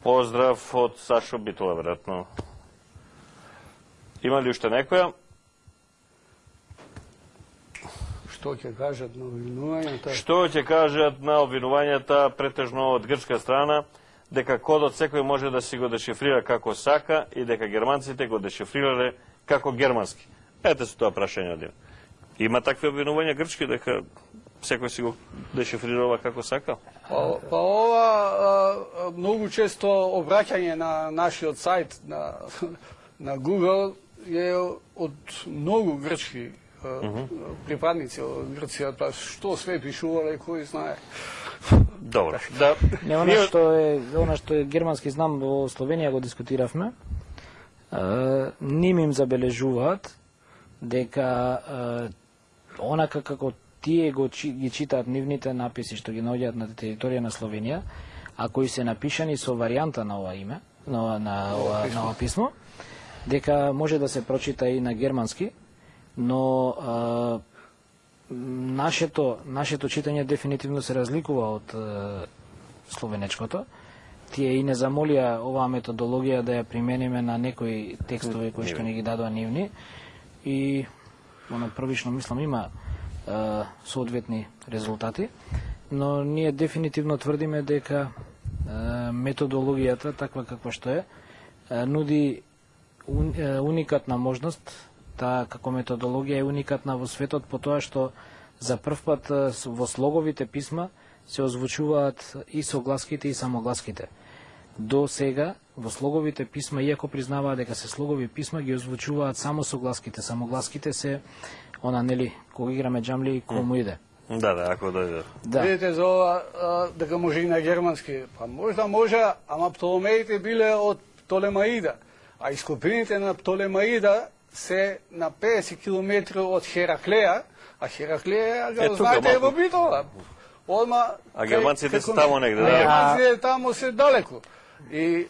Поздрав од Сашо Битола, веројатно. Има ли уште некоја? Што ќе кажат на обвинувањата? Што ќе кажат на обвинувањата, претежно од грчка страна, дека кодот секој може да си го дешифрира како сака и дека германците го дешифрирале како германски? Ете со тоа прашање од им. Има такви обвинувања грчки дека секој си го дешифрирала како сака? Па ова многу често обраќање на нашиот сајт на Google е од многу грчки припадници од Грција, па што све пишувале, кој знае. Добро. Да. Не, она што е германски знам во Словенија го дискутиравме. Ним им забележуваат дека онака како тие ги читаат нивните написи што ги наоѓаат на територија на Словенија, а кои се напишани со варијанта на ова име, на ова писмо, дека може да се прочита и на германски, но нашето читање дефинитивно се разликува од словенечкото. Тие и не замолија оваа методологија да ја примениме на некои текстови кои што не ги дадоа нивни и првично мислам има соодветни резултати, но ние дефинитивно тврдиме дека методологијата, таква каква што е, нуди уникатна можност. Таа како методологија е уникатна во светот по тоа што за прв пат во слоговите писма се озвучуваат и согласките и самогласките. До сега во слоговите писма, иако признаваат дека се слогови писма, ги озвучуваат само согласките. Самогласките се она, нели, кога играме джамли, кому иде. Да, ако дојде. Да. Видите за ова дека може и на германски. Па можда може, ама Птолемеите биле од Птолемаида, а ископините на Птолемаида се на 50 км од Хераклеја, а Хераклеја го знаете во Битола. А германците се тамо негде, да? Германците тамо се далеку. И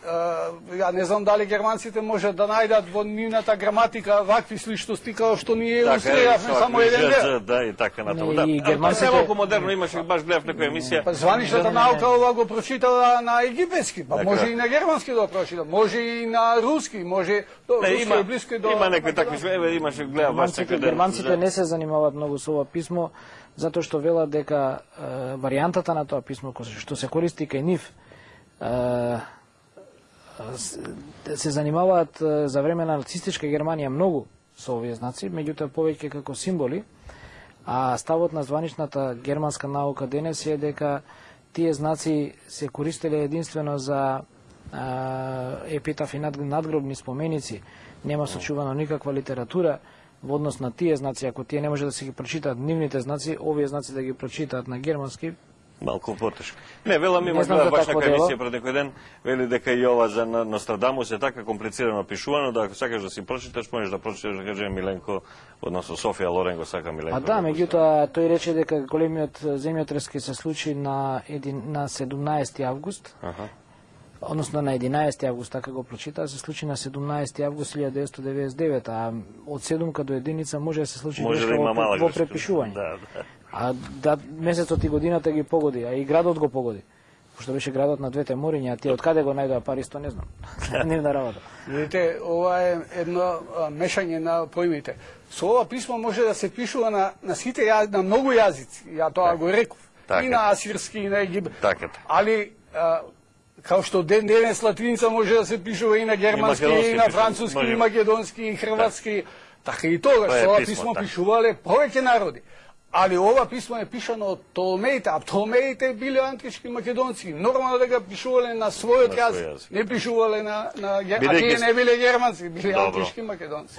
ја не знам дали германците можат да најдат во нивната граматика вакви сличности како што ние илустриравме само еден дел. Да, и така натаму. Да. Германците малку модерно имаше, баш гледав некоја емисија. Па званичната наука ова го прочитала на египетски, па може и на германски да прочита, може и на руски, може руски е близко до. Има некои такви све, имаше гледав баш така. Германците не се занимаваат многу со ова писмо, затоа што велат дека варијантата на тоа писмо што се користи кај нив се занимаваат за време на нацистичка Германија многу со овие знаци, меѓутоа повеќе како символи, а ставот на званичната германска наука денес е дека тие знаци се користеле единствено за епитафи надгробни споменици, нема сочувано никаква литература во однос на тие знаци. Ако тие не може да се ги прочитаат нивните знаци, овие знаци да ги прочитаат на германски, малку потешко. Не, велам има баш така емисија пред некој ден, вели дека и ова за Нострадамус е така комплицирано пишувано, да ако сакаш да си прочиташ, можеш да прочиташ, да кажем, Миленко, односно Софија Лорен го сака Миленко. А да, меѓутоа тој рече дека големиот земјотрес ќе се случи на 17 август. Односно на 11 август, така го прочита, се случи на 17 август 1999, а од 7 до единица може да се случи грешка во препишување. А месецот и годината ги погоди, а и градот го погоди. Пошто беше градот на двете мориња, а тие од каде го најдоа пари, не знам. Нивна работа. Видите, ова е едно мешање на поимите. Со ова писмо може да се пишува на сите на многу јазици. Ја тоа го реков. И на асирски, и на египет. Али као што денес латиница може да се пишува и на германски, и на француски, и македонски, и хрватски. Така и тогаш, со ова писмо пишувале повеќе народи. Али ова писмо е пишано од Птолемеите, а Птолемеите биле антички македонци. Нормално да го пишувале на својот јазик. Не пишувале на а тие не биле германци, биле антички македонци.